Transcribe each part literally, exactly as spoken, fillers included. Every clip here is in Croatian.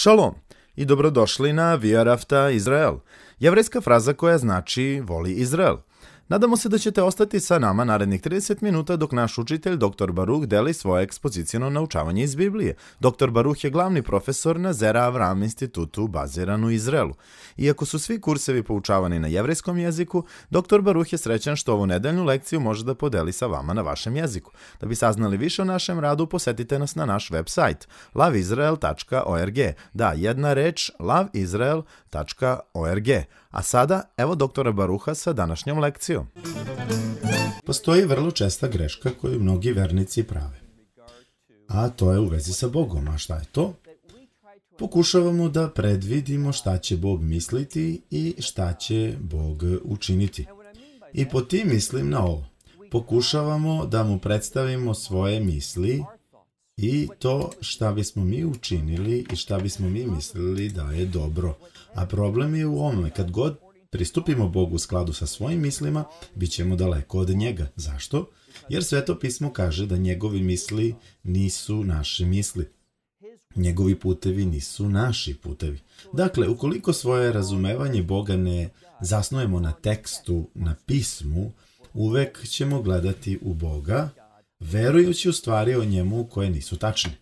Šalom i dobrodošli na Viarafta Izrael, jevrejska fraza koja znači voli Izrael. Nadamo se da ćete ostati sa nama narednih trideset minuta dok naš učitelj doktor Baruh deli svoje ekspozicijno naučavanje iz Biblije. doktor Baruh je glavni profesor na Zera Avram institutu baziran u Izraelu. Iako su svi kursevi poučavani na jevrejskom jeziku, doktor Baruh je srećan što ovu nedeljnu lekciju može da podeli sa vama na vašem jeziku. Da bi saznali više o našem radu, posetite nas na naš web sajt love israel tačka org. Da, jedna reč love israel tačka org. A sada, evo doktora Baruha sa današnjom lekcijom. Postoji vrlo česta greška koju mnogi vernici prave. A to je u vezi sa Bogom. A šta je to? Pokušavamo da predvidimo šta će Bog misliti i šta će Bog učiniti. I po tim mislim na ovo. Pokušavamo da mu predstavimo svoje misli i to šta bismo mi učinili i šta bismo mi mislili da je dobro. A problem je u ovome, kad god pristupimo Bogu u skladu sa svojim mislima, bit ćemo daleko od njega. Zašto? Jer Sveto pismo kaže da njegovi misli nisu naše misli. Njegovi putevi nisu naši putevi. Dakle, ukoliko svoje razumevanje Boga ne zasnujemo na tekstu, na pismu, uvek ćemo gledati u Boga, verujući u stvari o njemu koje nisu tačne.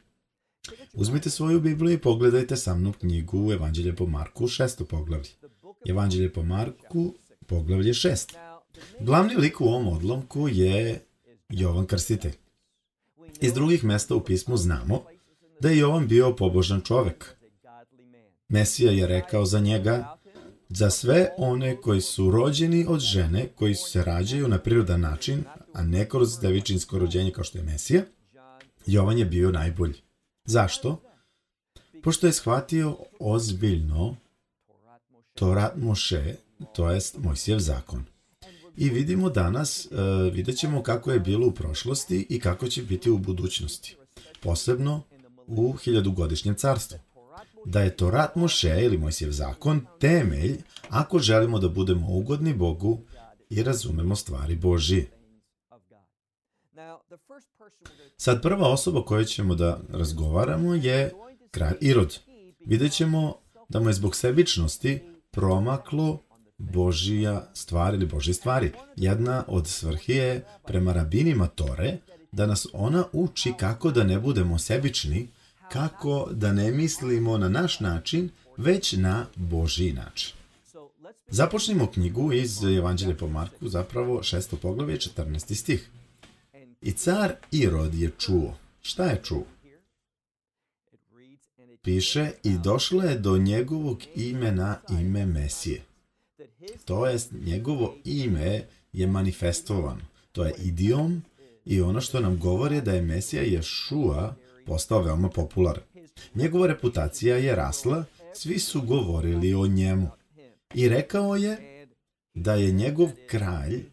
Uzmite svoju Bibliju i pogledajte sa mnom knjigu Evanđelje po Marku, šesto poglavlje. Evanđelje po Marku, poglavlje šest. Glavni lik u ovom odlomku je Jovan Krstitelj. Iz drugih mesta u pismu znamo da je Jovan bio pobožan čovek. Mesija je rekao za njega: za sve one koji su rođeni od žene, koji se rađaju na prirodan način, a ne kroz devičinsko rođenje kao što je Mesija, Jovan je bio najbolji. Zašto? Pošto je shvatio ozbiljno Torat Moše, to jest Mojsijev zakon. I vidimo danas, uh, vidjet ćemo kako je bilo u prošlosti i kako će biti u budućnosti. Posebno u hiljadugodišnjem carstvu. Da je Torat Moše ili Mojsijev zakon temelj ako želimo da budemo ugodni Bogu i razumemo stvari Božije. Sad prva osoba koju ćemo da razgovaramo je kralj Irod. Vidjet ćemo da mu je zbog sebičnosti promaklo Božija stvar ili Božje stvari. Jedna od svrhi je prema rabinima Tore da nas ona uči kako da ne budemo sebični, kako da ne mislimo na naš način, već na Božji način. Započnimo knjigu iz Evanđelja po Marku, zapravo šesto poglavlje, četrnaesti stih. I car Irod je čuo. Šta je čuo? Piše, i došlo je do njegovog imena ime Mesije. To jest, njegovo ime je manifestovano. To je idiom i ono što nam govori da je Mesija Ješua postao veoma popularan. Njegova reputacija je rasla, svi su govorili o njemu. I rekao je da je njegov kralj,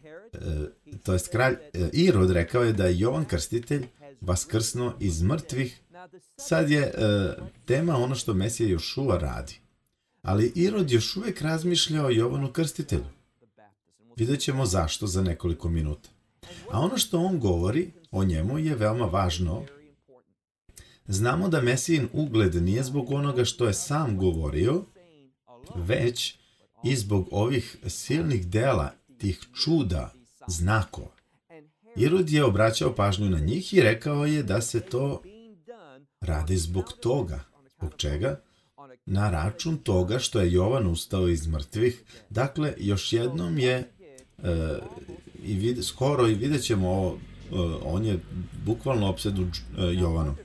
to jest kralj Irod rekao je da je Jovan Krstitelj vaskrsnuo iz mrtvih. Sad je uh, tema ono što Mesija Ješua radi. Ali Irod još uvijek razmišlja o Jovanu Krstitelju. Vidjet ćemo zašto za nekoliko minuta. A ono što on govori o njemu je veoma važno. Znamo da Mesijin ugled nije zbog onoga što je sam govorio, već i zbog ovih silnih dela, tih čuda, znakova. Irod je obraćao pažnju na njih i rekao je da se to radi zbog toga. Zbog čega? Na račun toga što je Jovan ustao iz mrtvih. Dakle, još jednom je, e, i vid, skoro i vidjet ćemo ovo, e, on je bukvalno opsedu e, Jovanom.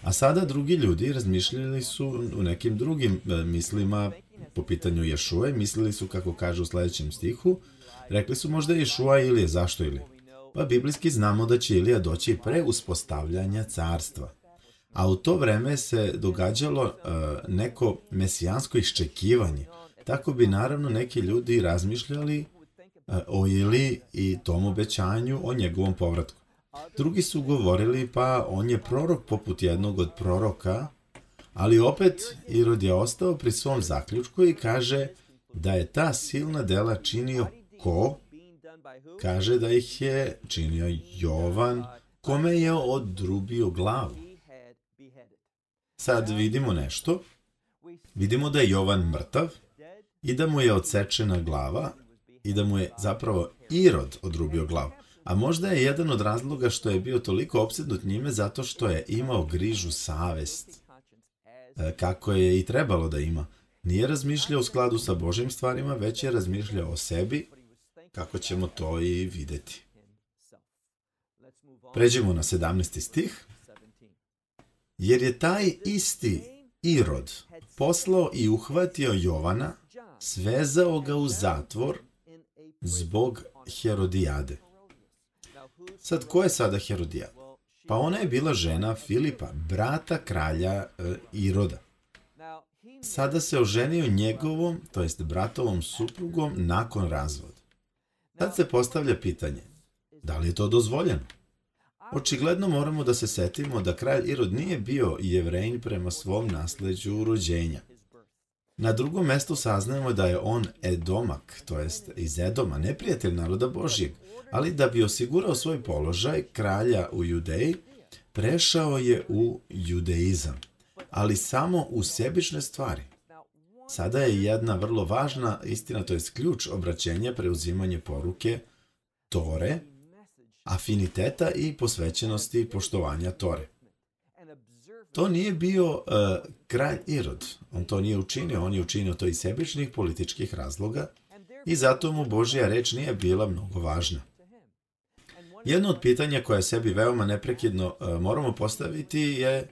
A sada drugi ljudi razmišljali su u nekim drugim e, mislima po pitanju Ješue. Mislili su, kako kaže u sljedećem stihu, rekli su možda Ješua Ilije. Zašto Ilije? Pa biblijski znamo da će Ilija doći pre uspostavljanja carstva. A u to vreme se događalo uh, neko mesijansko iščekivanje. Tako bi naravno neki ljudi razmišljali uh, o Iliji i tom obećanju o njegovom povratku. Drugi su govorili pa on je prorok poput jednog od proroka, ali opet Irod je ostao pri svom zaključku i kaže da je ta silna dela činio ko? Kaže da ih je činio Jovan, kome je odrubio glavu. Sad vidimo nešto. Vidimo da je Jovan mrtav i da mu je odsečena glava i da mu je zapravo Irod odrubio glavu. A možda je jedan od razloga što je bio toliko opsednut njime zato što je imao grižu savest, kako je i trebalo da ima. Nije razmišljao u skladu sa Božjim stvarima, već je razmišljao o sebi, kako ćemo to i videti. Pređemo na sedamnaesti stih. Jer je taj isti Irod poslao i uhvatio Jovana, svezao ga u zatvor zbog Herodijade. Sad, ko je sada Herodijada? Pa ona je bila žena Filipa, brata kralja e, Iroda. Sada se oženio njegovom, to jest bratovom suprugom, nakon razvoda. Sad se postavlja pitanje, da li je to dozvoljeno? Očigledno moramo da se setimo da kralj Irod nije bio Jevrejin prema svom nasleđu rođenja. Na drugom mestu saznajemo da je on Edomak, to jest iz Edoma, neprijatelj naroda Božjeg, ali da bi osigurao svoj položaj kralja u Judeji, prešao je u judeizam, ali samo u sebične stvari. Sada je jedna vrlo važna istina, to jest ključ obraćenja, preuzimanje poruke Tore, afiniteta i posvećenosti i poštovanja Tore. To nije bio uh, kralj Irod. On to nije učinio, on je učinio to iz sebičnih političkih razloga i zato mu Božja reč nije bila mnogo važna. Jedno od pitanja koje sebi veoma neprekidno uh, moramo postaviti je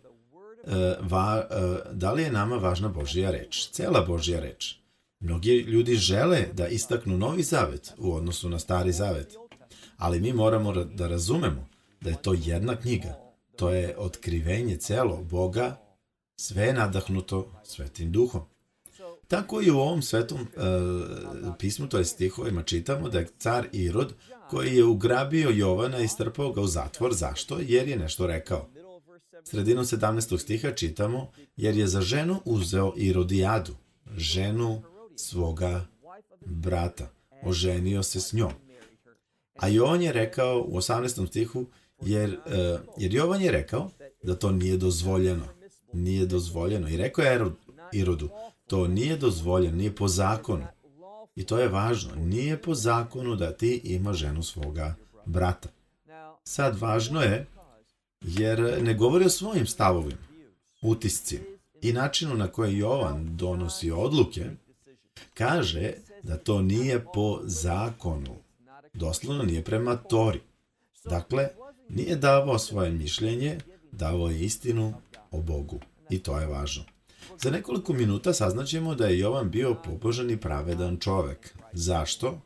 uh, va, uh, da li je nama važna Božja reč, cela Božja reč. Mnogi ljudi žele da istaknu Novi Zavet u odnosu na Stari Zavet, ali mi moramo da razumemo da je to jedna knjiga. To je otkrivenje celo Boga, sve je nadahnuto Svetim Duhom. Tako i u ovom svetom e, pismu, to je stihovima, čitamo da je car Irod, koji je ugrabio Jovana i strpao ga u zatvor. Zašto? Jer je nešto rekao. Sredinom sedamnaestog stiha čitamo, jer je za ženu uzeo Irodijadu, ženu svoga brata. Oženio se s njom. A Jovan je rekao u osamnaestom stihu, Jer, uh, jer Jovan je rekao da to nije dozvoljeno. Nije dozvoljeno. I rekao je Irodu, to nije dozvoljeno, nije po zakonu. I to je važno. Nije po zakonu da ti ima ženu svoga brata. Sad važno je, jer ne govori o svojim stavovima, utiscima i načinu na koji Jovan donosi odluke, kaže da to nije po zakonu. Doslovno nije prema Tori. Dakle, nije davao svoje mišljenje, davao je istinu o Bogu. I to je važno. Za nekoliko minuta saznaćemo da je Jovan bio pobožan i pravedan čovek. Zašto?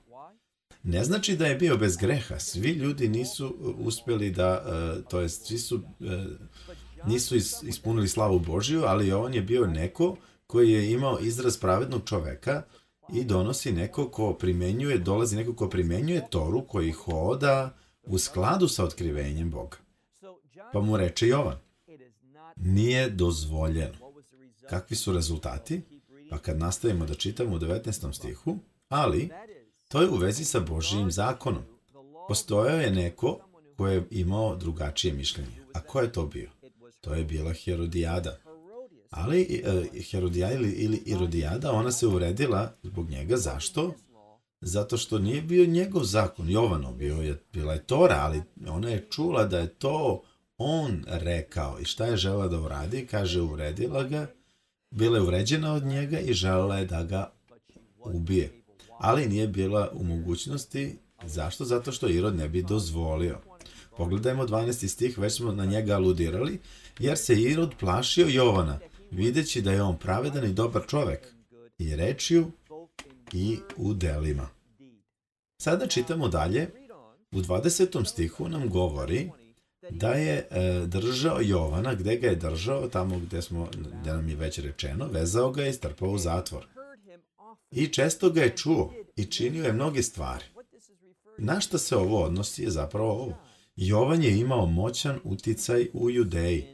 Ne znači da je bio bez greha. Svi ljudi nisu uspjeli da, to jest, svi su, nisu ispunili slavu Božju, ali Jovan je bio neko koji je imao izraz pravednog čoveka i donosi neko ko primenjuje, dolazi neko ko primenjuje Toru, koji hoda u skladu sa otkrivenjem Boga. Pa mu reče Jovan, nije dozvoljeno. Kakvi su rezultati? Pa kad nastavimo da čitamo u devetnaestom stihu, ali to je u vezi sa Božijim zakonom. Postojao je neko ko je imao drugačije mišljenje. A ko je to bio? To je bila Herodijada. Ali uh, Herodijada ili, ili Irodijada, ona se uvredila zbog njega. Zašto? Zato što nije bio njegov zakon, Jovanov, bio je, bila je Tora, ali ona je čula da je to on rekao. I šta je žela da uradi? Kaže, uvredila ga, bila je uvređena od njega i želela je da ga ubije. Ali nije bila u mogućnosti. Zašto? Zato što Irod ne bi dozvolio. Pogledajmo dvanaesti stih, već smo na njega aludirali, jer se Irod plašio Jovana, videći da je on pravedan i dobar čovek, i rečju i u delima. Sada čitamo dalje. U dvadesetom stihu nam govori da je e, držao Jovana, gde ga je držao, tamo gde, smo, gde nam je već rečeno, vezao ga je i strpao u zatvor. I često ga je čuo i činio je mnoge stvari. Na šta se ovo odnosi je zapravo ovo. Jovan je imao moćan uticaj u Judeji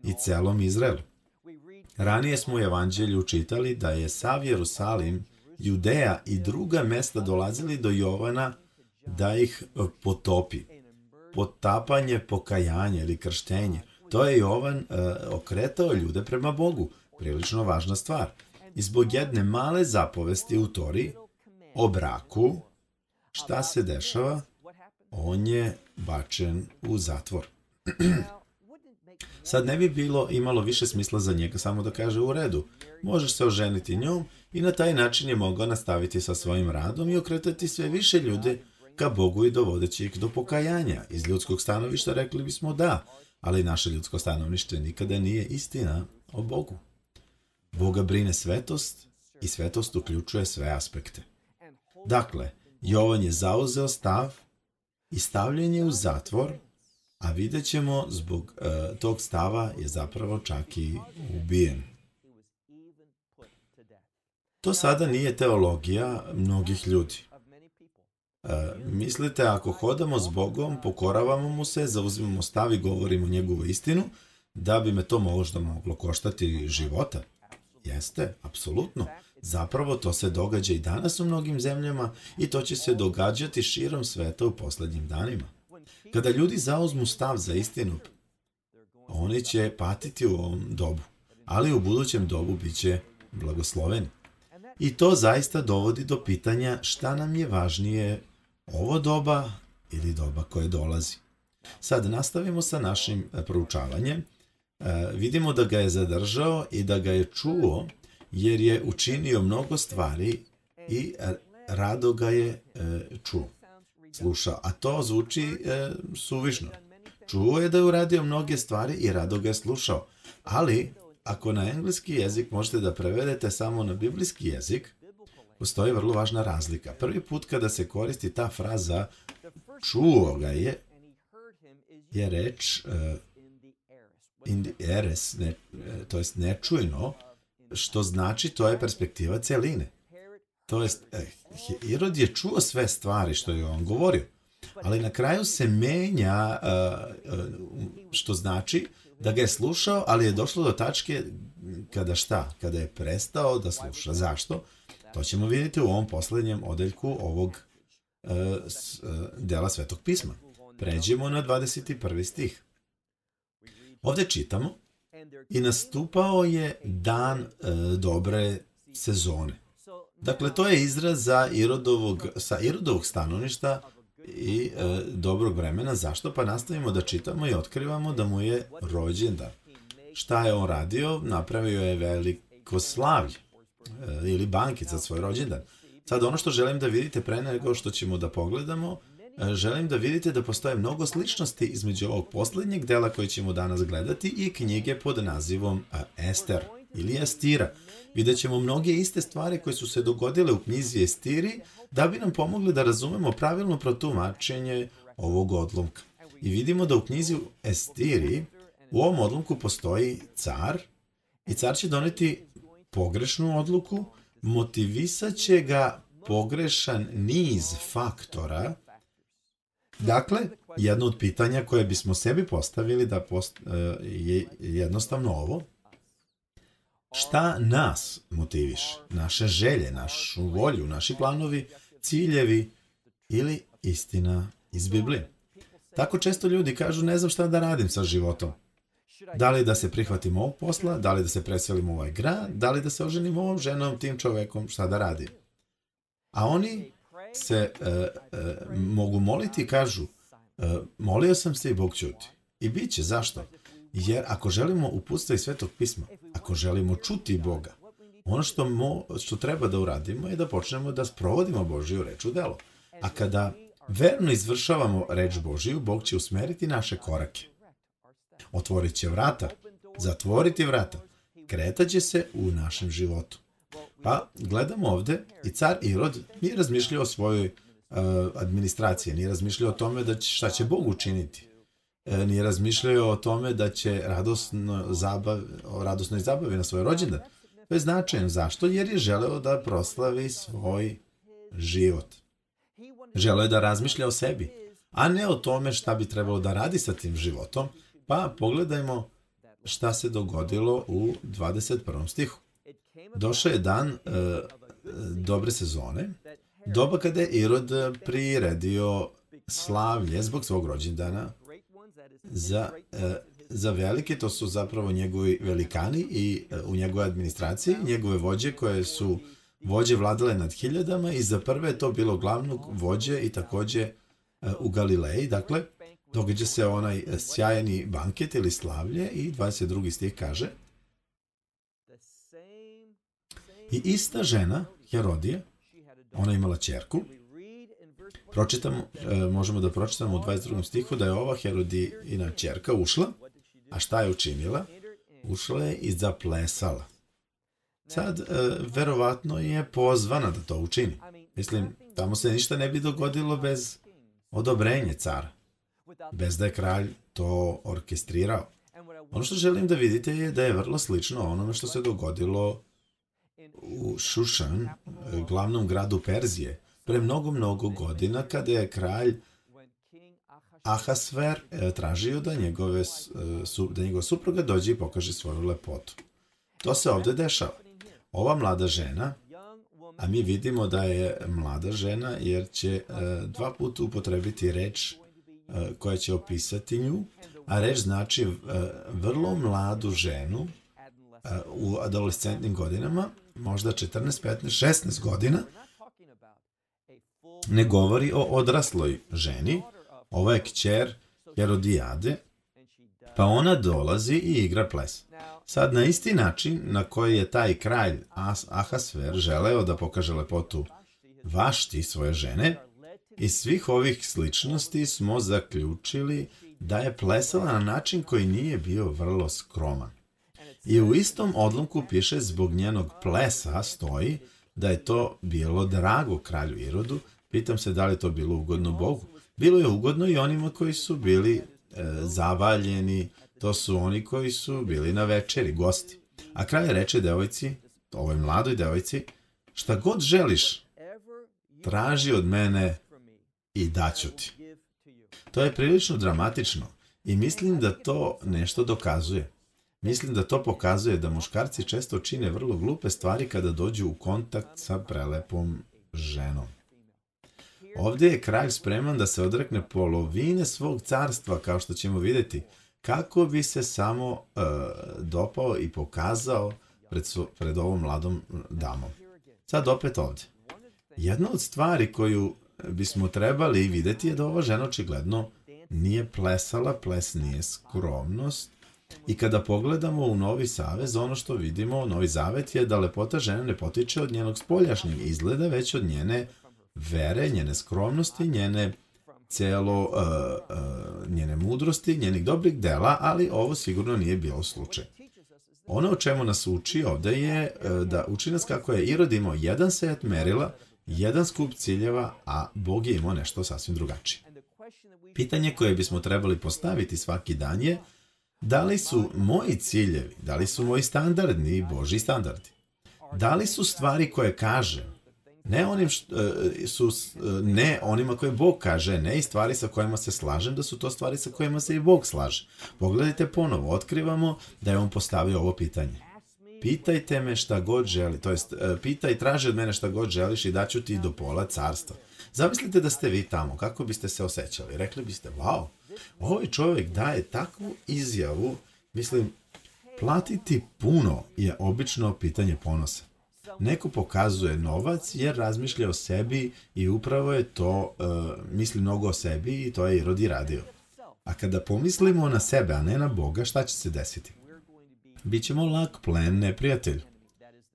i celom Izraelu. Ranije smo u Evanđelju čitali da je sav Jerusalim, Judeja i druga mesta dolazili do Jovana da ih potopi. Potapanje, pokajanje ili krštenje. To je Jovan uh, okretao ljude prema Bogu. prilično važna stvar. I zbog jedne male zapovesti u Tori o braku, šta se dešava? On je bačen u zatvor. Sad ne bi bilo imalo više smisla za njega samo da kaže u redu. Možeš se oženiti njom i na taj način je mogao nastaviti sa svojim radom i okretati sve više ljude ka Bogu i dovodeći ih do pokajanja. Iz ljudskog stanovišta rekli bismo da, ali naše ljudsko stanovište nikada nije istina o Bogu. Boga brine svetost i svetost uključuje sve aspekte. Dakle, Jovan je zauzeo stav i stavljen je u zatvor, a vidjet ćemo zbog uh, tog stava je zapravo čak i ubijen. To sada nije teologija mnogih ljudi. Uh, mislite, ako hodamo s Bogom, pokoravamo mu se, zauzimamo stav i govorimo njegovu istinu, da bi me to možda moglo koštati života? Jeste, apsolutno. Zapravo to se događa i danas u mnogim zemljama i to će se događati širom sveta u posljednjim danima. Kada ljudi zauzmu stav za istinu, oni će patiti u ovom dobu, ali u budućem dobu bit će blagosloveni. I to zaista dovodi do pitanja šta nam je važnije, ovo doba ili doba koje dolazi. Sad nastavimo sa našim proučavanjem. E, vidimo da ga je zadržao i da ga je čuo, jer je učinio mnogo stvari i rado ga je e, čuo, slušao. A to zvuči e, suvišno. Čuo je da je uradio mnoge stvari i rado ga je slušao. Ali, ako na engleski jezik možete da prevedete samo na biblijski jezik, postoji vrlo važna razlika. Prvi put kada se koristi ta fraza čuo ga je, je reč e, in the eres, ne, to jest nečujno, što znači to je perspektiva celine. To jest, eh, Irod je čuo sve stvari što je on govorio, ali na kraju se menja, uh, uh, što znači da ga je slušao, ali je došlo do tačke kada šta? Kada je prestao da sluša. Zašto? To ćemo vidjeti u ovom posljednjem odeljku ovog uh, s, uh, dela Svetog pisma. Pređemo na dvadeset prvi stih. Ovdje čitamo: i nastupao je dan e, dobre sezone. Dakle, to je izraz za Irodovog, sa Irodovog stanovišta i e, dobrog vremena. Zašto? Pa nastavimo da čitamo i otkrivamo da mu je rođendan. Šta je on radio? Napravio je veliko slavlje e, ili banket za svoj rođendan. Sad, ono što želim da vidite pre nego što ćemo da pogledamo, želim da vidite da postoje mnogo sličnosti između ovog posljednjeg dela koji ćemo danas gledati i knjige pod nazivom Ester ili Estira. Vidjet ćemo mnoge iste stvari koje su se dogodile u knjizi Estiri da bi nam pomogli da razumemo pravilno protumačenje ovog odlomka. I vidimo da u knjizi Estiri u ovom odlomku postoji car i car će doneti pogrešnu odluku, motivisat će ga pogrešan niz faktora. Dakle, jedno od pitanja koje bismo sebi postavili da post, je jednostavno ovo: šta nas motiviše? Naše želje, našu volju, naši planovi, ciljevi ili istina iz Biblije? Tako često ljudi kažu: ne znam šta da radim sa životom. Da li da se prihvatim ovog posla, da li da se preselim u ovaj grad, da li da se oženim ovom ženom, tim čovekom, šta da radim? A oni se e, e, mogu moliti i kažu: e, molio sam se i Bog ćuti. I bit će. Zašto? Jer ako želimo uputstva iz Svetog pisma, ako želimo čuti Boga, ono što, mo, što treba da uradimo je da počnemo da sprovodimo Božiju reč u delo. A kada verno izvršavamo reč Božiju, Bog će usmeriti naše korake. Otvorit će vrata, zatvoriti vrata, kretaće se u našem životu. Pa gledamo ovdje i car Irod nije razmišljao o svojoj uh, administraciji, nije razmišljao o tome da će, šta će Bog učiniti. E, nije razmišljao o tome da će radosno zabav, o radosnoj zabavi na svoj rođendan. To je značajno. Zašto? Jer je želeo da proslavi svoj život. Želeo je da razmišlja o sebi, a ne o tome šta bi trebalo da radi sa tim životom. Pa pogledajmo šta se dogodilo u dvadeset prvom stihu. Došao je dan e, dobre sezone, doba kada je Irod priredio slavlje zbog svog rođendana za, e, za velike, to su zapravo njegovi velikani i u njegovoj administraciji, njegove vođe koje su vođe vladale nad hiljadama i za prve je to bilo glavnog vođe i takođe u Galileji. Dakle, događa se onaj sjajni banket ili slavlje i dvadeset drugi stih kaže: I ista žena, Herodija, ona imala ćerku. Pročitamo, možemo da pročitamo u dvadeset drugom stihu da je ova Herodijina ćerka ušla, a šta je učinila? Ušla je i zaplesala. Sad, verovatno je pozvana da to učini. Mislim, tamo se ništa ne bi dogodilo bez odobrenja cara, bez da je kralj to orkestrirao. Ono što želim da vidite je da je vrlo slično onome što se dogodilo u Šušan, glavnom gradu Perzije, pre mnogo, mnogo godina, kada je kralj Ahasver tražio da, njegove, da njegova supruga dođe i pokaže svoju lepotu. To se ovde dešava. Ova mlada žena, a mi vidimo da je mlada žena jer će dva puta upotrebiti reč koja će opisati nju, a reč znači vrlo mladu ženu u adolescentnim godinama, možda četrnaest, petnaest, šesnaest godina, ne govori o odrasloj ženi. Ovo je kćer Herodijade, pa ona dolazi i igra ples. Sad, na isti način na koji je taj kralj Ahasver želeo da pokaže lepotu Vašti, svoje žene, iz svih ovih sličnosti smo zaključili da je plesala na način koji nije bio vrlo skroman. I u istom odlomku piše zbog njenog plesa stoji da je to bilo drago kralju Irodu. Pitam se da li je to bilo ugodno Bogu. Bilo je ugodno i onima koji su bili e, zavaljeni, to su oni koji su bili na večeri, gosti. A kralj reče devojci, ovoj mladoj devojci, šta god želiš, traži od mene i daću ti. To je prilično dramatično i mislim da to nešto dokazuje. Mislim da to pokazuje da muškarci često čine vrlo glupe stvari kada dođu u kontakt sa prelepom ženom. Ovdje je kralj spreman da se odrekne polovine svog carstva, kao što ćemo vidjeti, kako bi se samo uh, dopao i pokazao pred, su, pred ovom mladom damom. Sad opet ovdje. Jedna od stvari koju bismo trebali vidjeti je da ova žena očigledno nije plesala, ples nije skromnost. I kada pogledamo u Novi Savez, ono što vidimo, Novi Zavet je da lepota žene ne potiče od njenog spoljašnjeg izgleda, već od njene vere, njene skromnosti, njene celo, uh, uh, njene mudrosti, njenih dobrih dela, ali ovo sigurno nije bio slučaj. Ono o čemu nas uči ovde je uh, da uči nas kako je Irod imao jedan set merila, jedan skup ciljeva, a Bog je imao nešto sasvim drugačije. Pitanje koje bismo trebali postaviti svaki dan je da li su moji ciljevi, da li su moji standardni Božji standardi? Da li su stvari koje kažem, ne onim što, su, ne onima koje Bog kaže, ne i stvari sa kojima se slažem, da su to stvari sa kojima se i Bog slaže. Pogledajte ponovo, otkrivamo da je on postavio ovo pitanje. Pitajte me šta god želi, to jest pitaj, traži od mene šta god želiš i daću ti do pola carstva. Zamislite da ste vi tamo, kako biste se osjećali? Rekli biste, wow, ovaj čovjek daje takvu izjavu, mislim, platiti puno je obično pitanje ponosa. Neko pokazuje novac jer razmišlja o sebi i upravo je to, uh, misli mnogo o sebi i to je Irod i radio. A kada pomislimo na sebe, a ne na Boga, šta će se desiti? Bićemo lak plen neprijatelju.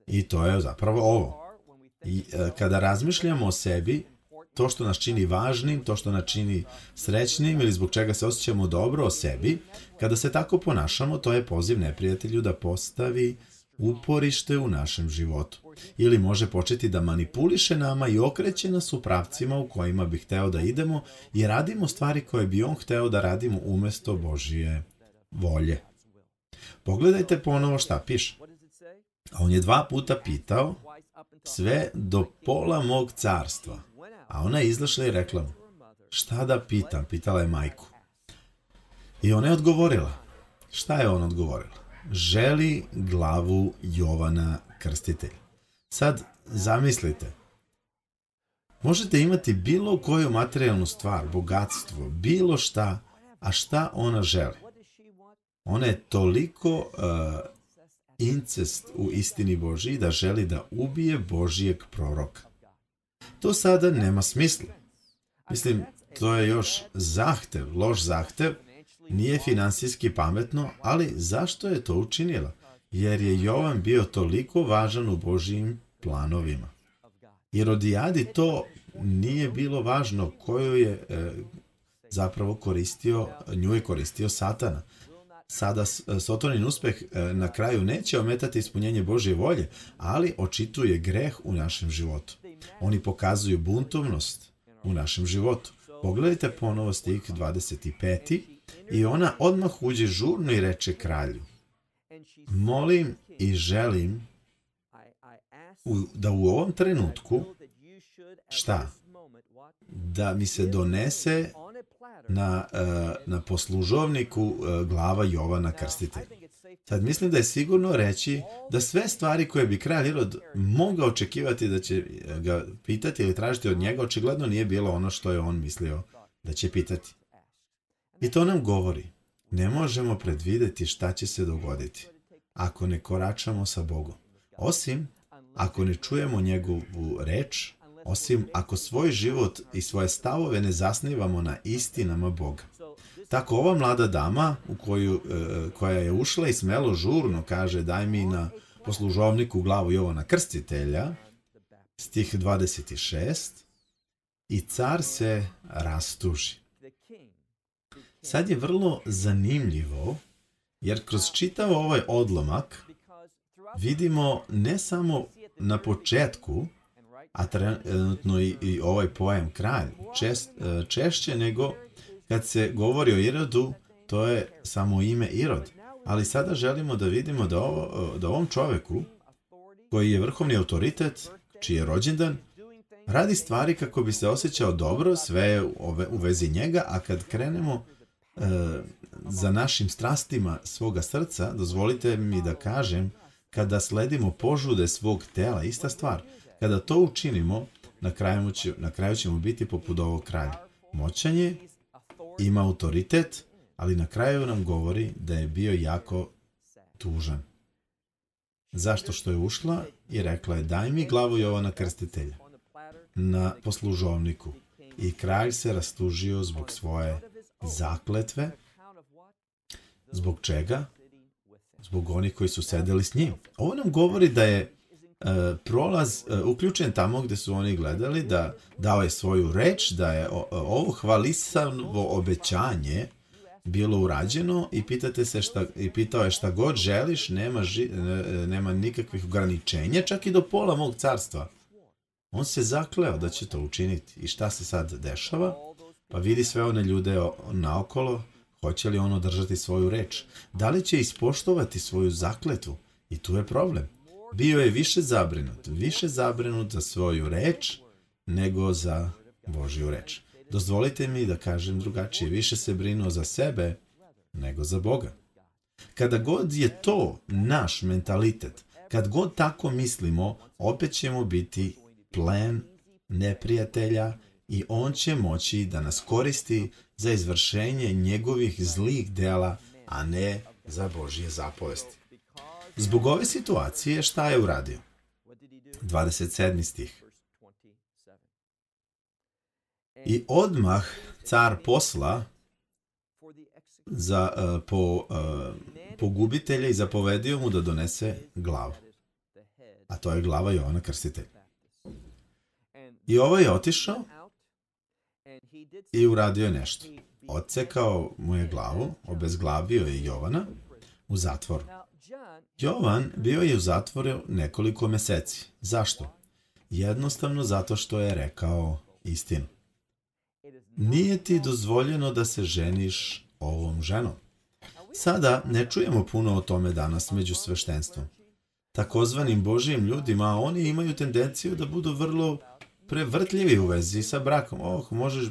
I to je zapravo ovo. I uh, kada razmišljamo o sebi, to što nas čini važnim, to što nas čini srećnim ili zbog čega se osjećamo dobro o sebi, kada se tako ponašamo, to je poziv neprijatelju da postavi uporište u našem životu. Ili može početi da manipuliše nama i okreće nas u pravcima u kojima bi hteo da idemo i radimo stvari koje bi on hteo da radimo umesto Božije volje. Pogledajte ponovo šta piše. On je dva puta pitao sve do pola mog carstva. A ona je izašla i rekla mu, šta da pitam, pitala je majku. I ona je odgovorila. Šta je ona odgovorila? Želi glavu Jovana Krstitelja. Sad, zamislite, možete imati bilo koju materijalnu stvar, bogatstvo, bilo šta, a šta ona želi? Ona je toliko uh, incest u istini Božiji da želi da ubije Božijeg proroka. To sada nema smisla. Mislim, to je još zahtev, loš zahtev, nije finansijski pametno, ali zašto je to učinila? Jer je Jovan bio toliko važan u Božijim planovima. Irodijadi to nije bilo važno koju je e, zapravo koristio, nju je koristio Satana. Sada Sotonin uspeh e, na kraju neće ometati ispunjenje Božje volje, ali očituje greh u našem životu. Oni pokazuju buntovnost u našem životu. Pogledajte ponovo stih dvadeset pet. I ona odmah uđe žurno i reče kralju: molim i želim u, da u ovom trenutku, šta? Da mi se donese na, na poslužovniku glava Jovana Krstitelja. Sad mislim da je sigurno reći da sve stvari koje bi kralj Irod mogao očekivati da će ga pitati ili tražiti od njega, očigledno nije bilo ono što je on mislio da će pitati. I to nam govori, ne možemo predvideti šta će se dogoditi ako ne koračamo sa Bogom. Osim ako ne čujemo njegovu reč, osim ako svoj život i svoje stavove ne zasnivamo na istinama Boga. Tako ova mlada dama u koju, koja je ušla i smelo žurno kaže: daj mi na poslužovniku glavu Jovana Krstitelja, stih dvadeset šest, i car se rastuži. Sad je vrlo zanimljivo, jer kroz čitav ovaj odlomak vidimo ne samo na početku, a trenutno i, i ovaj pojam kralj, čest, češće nego kad se govori o Irodu, to je samo ime Irod. Ali sada želimo da vidimo da, ovo, da ovom čoveku, koji je vrhovni autoritet, čiji je rođendan, radi stvari kako bi se osjećao dobro, sve je u vezi njega, a kad krenemo e, za našim strastima svoga srca, dozvolite mi da kažem, kada sledimo požude svog tela, ista stvar, kada to učinimo, na kraju, će, na kraju ćemo biti poput ovog kralja. Moćan je, ima autoritet, ali na kraju nam govori da je bio jako tužan. Zašto? Što je ušla i rekla je: daj mi glavu Jovana Krstitelja na poslužovniku. I kralj se rastužio zbog svoje zakletve. Zbog čega? Zbog onih koji su sedeli s njim. Ovo nam govori da je uh, prolaz uh, uključen tamo gdje su oni gledali, da dao je svoju reč, da je o, ovo hvalisavo obećanje bilo urađeno i pitate se šta, i pitao je: šta god želiš, nema, ži, nema nikakvih ograničenja, čak i do pola mog carstva. On se zakleo da će to učiniti. I šta se sad dešava? Pa vidi sve one ljude naokolo, hoće li on održati svoju reč? Da li će ispoštovati svoju zakletvu? I tu je problem. Bio je više zabrinut, više zabrinut za svoju reč nego za Božju reč. Dozvolite mi da kažem drugačije, više se brinuo za sebe nego za Boga. Kada god je to naš mentalitet, kad god tako mislimo, opet ćemo biti plen neprijatelja i on će moći da nas koristi za izvršenje njegovih zlih dela, a ne za Božje zapovesti. Zbog ove situacije šta je uradio? dvadeset sedmi stih. I odmah car posla za, uh, po uh, pogubitelja i zapovedio mu da donese glavu. A to je glava Jovana Krstitelja. I ovaj je otišao i uradio je nešto. Odsekao mu je glavu, obezglavio je Jovana u zatvoru. Jovan bio je u zatvoru nekoliko meseci. Zašto? Jednostavno zato što je rekao istinu. Nije ti dozvoljeno da se ženiš ovom ženom. Sada ne čujemo puno o tome danas među sveštenstvom. Takozvanim Božijim ljudima, oni imaju tendenciju da budu vrlo prevrtljivi u vezi sa brakom. Oh, možeš,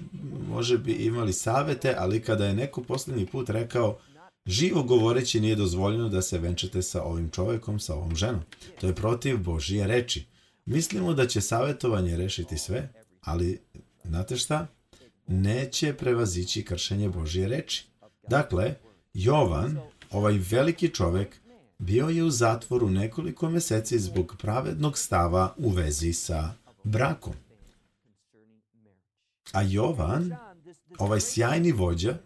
može bi imali savete, ali kada je neko posljednji put rekao: živo govoreći nije dozvoljeno da se venčate sa ovim čovjekom, sa ovom ženom. To je protiv Božije reči. Mislimo da će savjetovanje rešiti sve, ali znate šta? Neće prevazići kršenje Božije reči. Dakle, Jovan Ovaj veliki čovek bio je u zatvoru nekoliko meseci zbog pravednog stava u vezi sa brakom. A Jovan, ovaj sjajni vođa,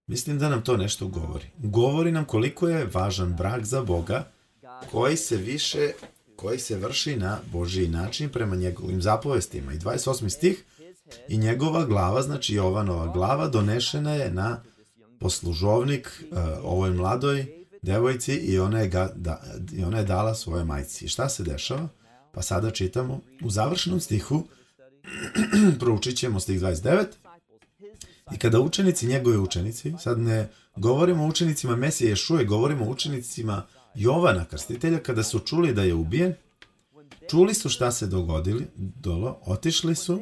mislim da nam to nešto govori. Govori nam koliko je važan brak za Boga, koji se više, koji se vrši na Božji način prema njegovim zapovestima. I dvadeset osmi stih, i njegova glava, znači Jovanova glava, donešena je na poslužovnik uh, ovoj mladoj devojci i ona je, ga, da, i ona je dala svojoj majci. I šta se dešava? Pa sada čitamo u završenom stihu, proučit ćemo stih dvadeset devet, i kada učenici, njegovi učenici, sad ne govorimo o učenicima Mesije Ješuje, govorimo o učenicima Jovana Krstitelja, kada su čuli da je ubijen, čuli su šta se dogodili, dolo, otišli su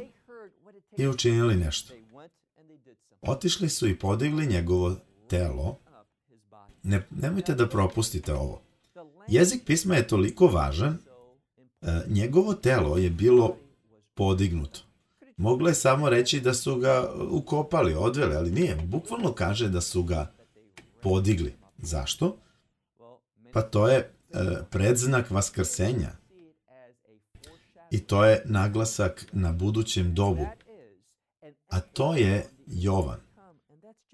i učinili nešto. Otišli su i podigli njegovo telo. Ne, nemojte da propustite ovo. Jezik pisma je toliko važan, e, njegovo telo je bilo podignuto. Moglo je samo reći da su ga ukopali, odveli, ali nije. Bukvalno kaže da su ga podigli. Zašto? Pa to je e, predznak vaskrsenja. I to je naglasak na budućem dobu. A to je Jovan.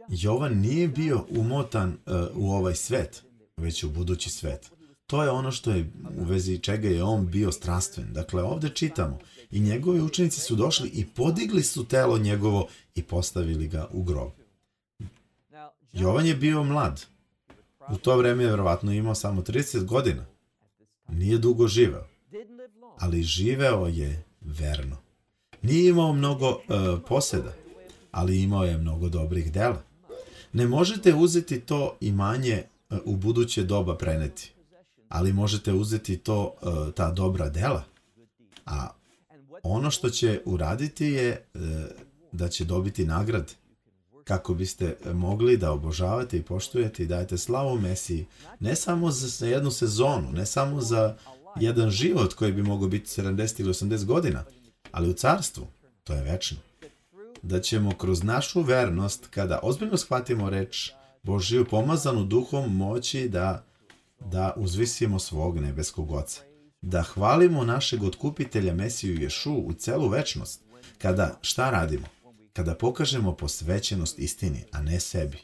Jovan nije bio umotan uh, u ovaj svet, već u budući svet. To je ono što je u vezi čega je on bio strastven. Dakle, ovdje čitamo. I njegovi učenici su došli i podigli su telo njegovo i postavili ga u grob. Jovan je bio mlad. U to vreme je vjerovatno imao samo trideset godina. Nije dugo živeo. Ali živeo je verno. Nije imao mnogo uh, poseda, ali imao je mnogo dobrih dela. Ne možete uzeti to imanje uh, u buduće doba preneti, ali možete uzeti to, uh, ta dobra dela. A ono što će uraditi je uh, da će dobiti nagrade, kako biste mogli da obožavate i poštujete i dajete slavu Mesiji, ne samo za jednu sezonu, ne samo za jedan život koji bi mogao biti sedamdeset ili osamdeset godina, ali u carstvu, to je večno. Da ćemo kroz našu vernost, kada ozbiljno shvatimo reč Božiju, pomazanu duhom, moći da, da uzvisimo svog nebeskog Oca. Da hvalimo našeg otkupitelja Mesiju Ješu u celu večnost. Kada šta radimo? Kada pokažemo posvećenost istini, a ne sebi.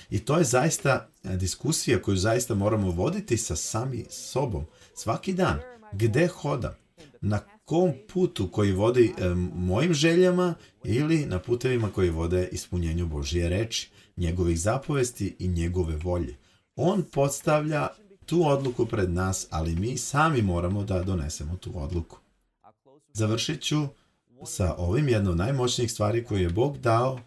I to je zaista diskusija koju zaista moramo voditi sa sami sobom. Svaki dan, gde hodam, na kom putu koji vodi e, mojim željama ili na putevima koji vode ispunjenju Božije reči, njegovih zapovesti i njegove volje. On postavlja tu odluku pred nas, ali mi sami moramo da donesemo tu odluku. Završit ću sa ovim. Jedno od najmoćnijih stvari koju je Bog dao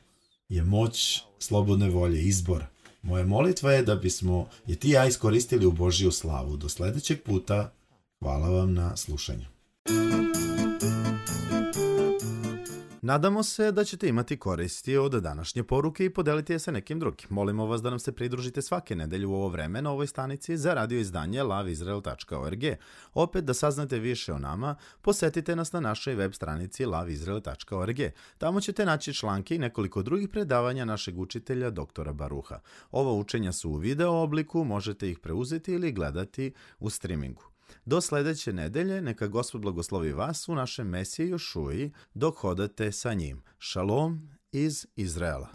je moć slobodne volje, izbor. Moja molitva je da bismo je ti i ja iskoristili u Božiju slavu. Do sljedećeg puta, hvala vam na slušanju. Nadamo se da ćete imati koristi od današnje poruke i podeliti je sa nekim drugim. Molimo vas da nam se pridružite svake nedelje u ovo vreme na ovoj stanici za radio izdanje lav izrael tačka org. Opet da saznate više o nama, posetite nas na našoj web stranici lav izrael tačka org. Tamo ćete naći članke i nekoliko drugih predavanja našeg učitelja doktora Baruha. Ova učenja su u video obliku, možete ih preuzeti ili gledati u streamingu. Do sljedeće nedelje, neka Gospod blagoslovi vas u našem Mesiji Jošuji dok hodate sa njim. Šalom iz Izraela.